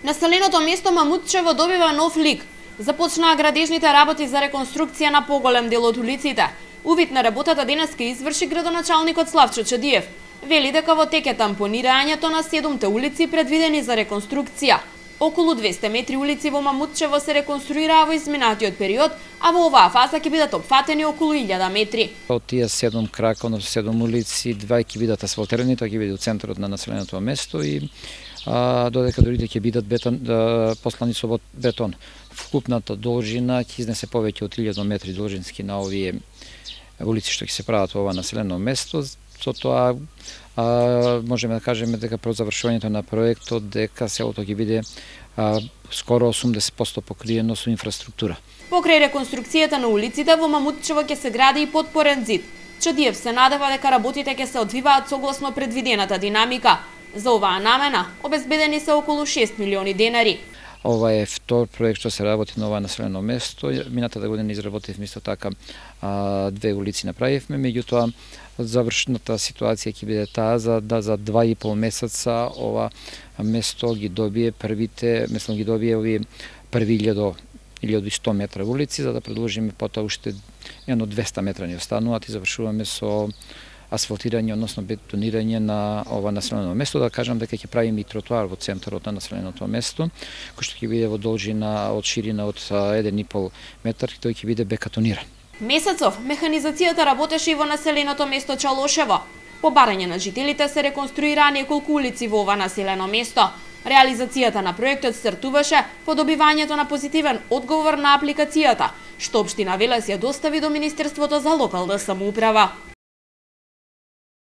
Населеното место Мамутчево добива нов лик. Започнаа градежните работи за реконструкција на поголем дел од улиците. Увид на работата денеска изврши градоначалникот Славчо Чадиев. Вели дека во тек е тампонирањето на 7-те улици предвидени за реконструкција. Околу 200 метри улици во Мамутчево се реконструираа во изминатиот период, а во оваа фаза ќе бидат опфатени околу 1000 метри. Од тие 7 крака, односно 7 улици, 2 ќе бидат асфалтирани, тоа ќе биде во центарот на населеното место и додека другите ќе бидат послани со бетон. Вкупната должина ќе изнесе повеќе од 1000 метри должински на овие улици што ќе се прават во ова населено место. Со тоа можеме да кажеме дека пред завршувањето на проектот дека селото ќе биде скоро 80% покриено со инфраструктура. Покрај реконструкцијата на улиците во Мамутчево ќе се гради и подпорен зид. Чадиев се надева дека работите ќе се одвиваат согласно предвидената динамика. За оваа намена обезбедени се околу 6 милиони денари. Ова е втор проект што се работи на ова населено место. Минатата година изработивме исто така 2 улици направивме, меѓутоа завршната ситуација ќе биде таа за 2,5 месеца ова место ги добие овие први 1100 метра улици, за да продолжиме потоа уште едно 200 метра ни остануваат и завршуваме со асфалтирање, односно бетонирање на ова населено место. Да кажам дека ќе правиме и тротоар во центарот на населеното место, кој што ќе биде во должина од ширина од 1,5 метар, тој ќе биде бекатониран. Месецов механизацијата работеше и во населеното место Чалошево. По барање на жителите се реконструираа неколку улици во ова населено место. Реализацијата на проектот стартуваше по добивањето на позитивен одговор на апликацијата, што општина Велес ја достави до Министерството за локална самоуправа.